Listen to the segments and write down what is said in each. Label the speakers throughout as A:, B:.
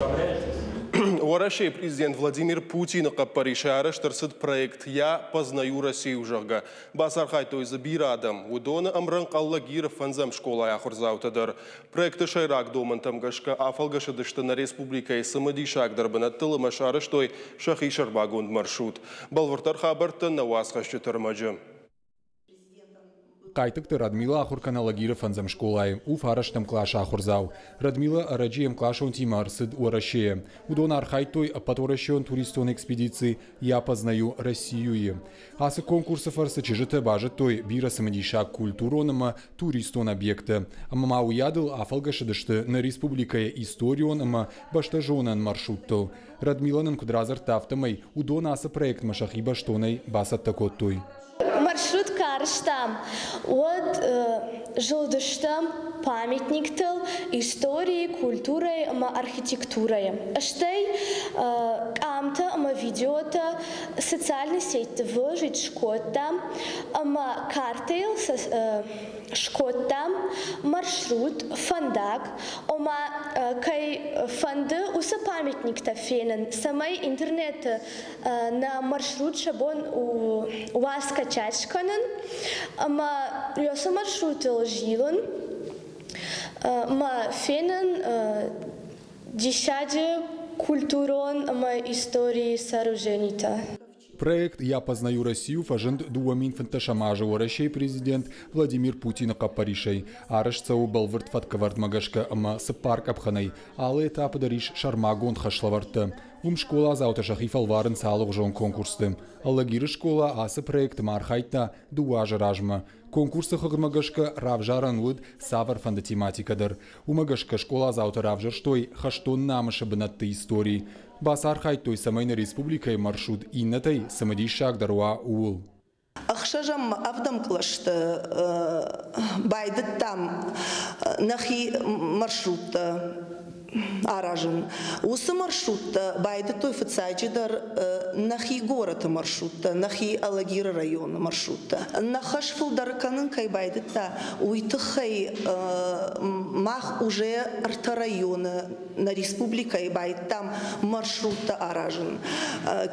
A: Уӕрӕсейы президент Владимир Путины хъӕппӕрисӕй арӕзт ӕрцыд проект «Я познаю Россию», зӕгъгӕ. Бацархайдтой дзы бирӕ адӕм. Уыдоны ӕмрӕнхъ Алагиры фӕндзӕм скъолайы ахуырдзаутӕ дӕр. Проекты сӕйраг домӕнтӕм гӕсгӕ афӕлгӕсыдысты нӕ республикӕйы цымыдисагдӕр бынӕттыл ӕмӕ сарӕзтой сӕхи сӕрмагонд маршрут. Бӕлвырддӕр хабӕрттӕ нӕ уацхӕсджыты ӕрмӕджы.
B: Хъайтыхъты Радмила ахуыр кӕны Алагиры фӕндзӕм скъолайы, у фарӕстӕм къласы ахуырдзау. Радмила ӕрӕджы йе мкъласонтимӕ ӕрцыд Уӕрӕсейӕ. Уыдон архайдтой ӕппӕтуӕрӕсеон туристон экспедици «Я познаю Россию-йы». Ацы конкурсы фӕрцы чызджытӕ базыдтой бирӕ цымыдисаг культурон ӕмӕ туристон объекттӕ. Ӕмӕ ма уыйадыл афӕлгӕсыдысты нӕ республикӕйы историон ӕмӕ бӕстӕзонӕн маршруттыл. Радмила нын куыд радзырдта, афтӕмӕй уыдон ацы проектмӕ сӕхи бӕстонӕй бацӕттӕ кодтой.
C: Маршрут куы арызтам, уӕд зылдыстӕм памятниктыл историйы, культурӕйы ӕмӕ архитектурӕйы. Стӕй къамтӕ ӕмӕ видеотӕ социальный сетьты выложить скодтам ӕмӕ картӕйыл скодтам маршрут, фӕндаг, ома кӕй фӕнды, уыцы памятниктӕ фенын, цӕмӕй интернеты нӕ маршрут сӕ бон уа скачать скӕнын ӕмӕ уыцы маршрутыл зилын ӕмӕ фенын диссаджы культурон ӕмӕ историйы сооруженитӕ.
B: Проект «Я познаю Россию» фӕзынд 2015 азы Уӕрӕсейы президент Владимир Путины хъӕппӕрисӕй. Арӕзт цӕуы бӕлвырд фӕткӕвӕрдмӕ гӕсгӕ ӕмӕ цыппар къӕпхӕнӕй. Алы этапы дӕр ис сӕрмагонд хӕслӕвӕрдтӕ. Уым скъоладзаутӕ сӕхи фӕлварынц алыгъуызон конкурсты. Алагиры скъола ацы проекты ма архайдта дыууӕ азы размӕ. Конкурсы хыгъдмӕ гӕсгӕ равзарӕн уыд цавӕрфӕнды тематикӕ дӕр. Уымӕ гӕсгӕ скъоладзаутӕ равзӕрстой хӕстон намысы бынӕтты истори. Бацархайдтой, цӕмӕй нӕ республикӕйы маршрут иннӕтӕй цымыдисагдӕр уа, ууыл.
D: Ӕхсӕзӕм ӕвдӕм кълӕсты байдыдтам нӕхи маршруттӕ аразын. Уыцы маршруттӕ байдыдтой фыццаджыдӕр нӕхи горӕты маршруттӕ, нӕхи Алагиры районы маршруттӕ. Нӕ хӕс фылдӕр кӕнын кӕй байдыдта, уый тыххӕй мах уже ӕртӕ районы нӕ республикӕйы байдтам маршруттӕ аразын.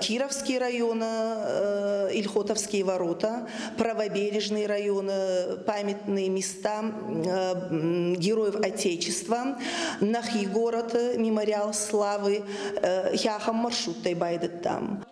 D: Кировский районы Ильхотовские ворота, Правобережный районы памятные места Героев Отечества, нӕхи город Мемориал славы, ахӕм маршруттӕй байдыдтам.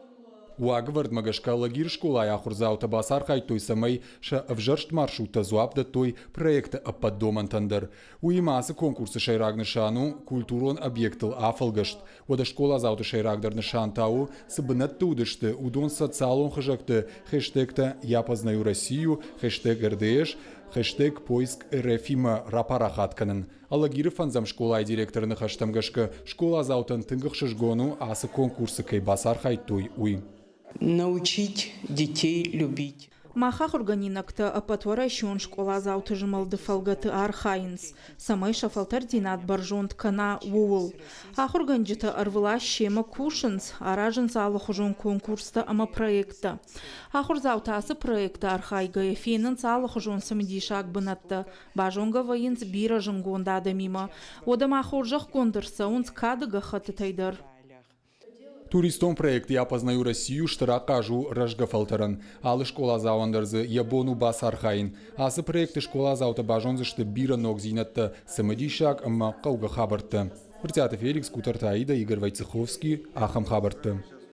B: Уагӕвӕрдмӕ гӕсгӕ Алагиры скъолайы ахуырдзаутӕ бацархайдтой, цӕмӕй сӕ ӕвзӕрст маршруттӕ дзуапп дӕттой проекты ӕппӕт домӕнтӕн дӕр. Уыимӕ ацы конкурсы сӕйраг нысан у культурон объектыл афӕлгӕст. Уӕдӕ скъоладзауты сӕйрагдӕр нысан та у, цы бынӕтты уыдысты, уыдон социалон хызӕгты хештегтӕ «Я познаю Россию», хештег РДС, хештег «Поиск РФ-имӕ» рапарахат кӕнын. Алагиры фӕндзӕм скъолайы директоры ныхӕстӕм гӕсгӕ, скъоладзаутӕн тынг ӕхсызгон у, ацы конкурсы кӕй бацархайдтой, уый.
E: Научить детей любить.
F: Мах ахуыргӕнинӕгтӕ ӕппӕтуӕрӕсеон скъоладзауты змӕлды фӕлгӕты архайынц, цӕмӕй сӕ фӕлтӕрддзинад бӕрзонд кӕна, ууыл. Ахуыргӕнджытӕ ӕрвылаз семӕ кусынц, аразынц алыхуызон конкурстӕ ӕмӕ проекттӕ. Ахуырдзаутӕ ацы проекты архайгӕйӕ фенынц алыхуызон цымыдисаг бынӕттӕ, базонгӕ вӕййынц бирӕ зынгонд адӕмимӕ. Уӕдӕ ма хорзӕхгонд ӕрцӕуынц кады гӕххӕттытӕй дӕр.
B: Туристон проект «Я познаю Россию» стыр ахъаз у рӕзгӕ фӕлтӕрӕн. Алы скъоладзауӕн дӕр дзы йӕ бон у бацархайын. Ацы проекты скъоладзаутӕ базондзысты бирӕ ногдзинӕдтӕ, цымыдисаг ӕмӕ хъӕугӕ хабӕрттӕ. Брытъиаты Феликс, Къутӕрты Аидӕ, Игорь Войцеховский. Ахӕм хабӕрттӕ.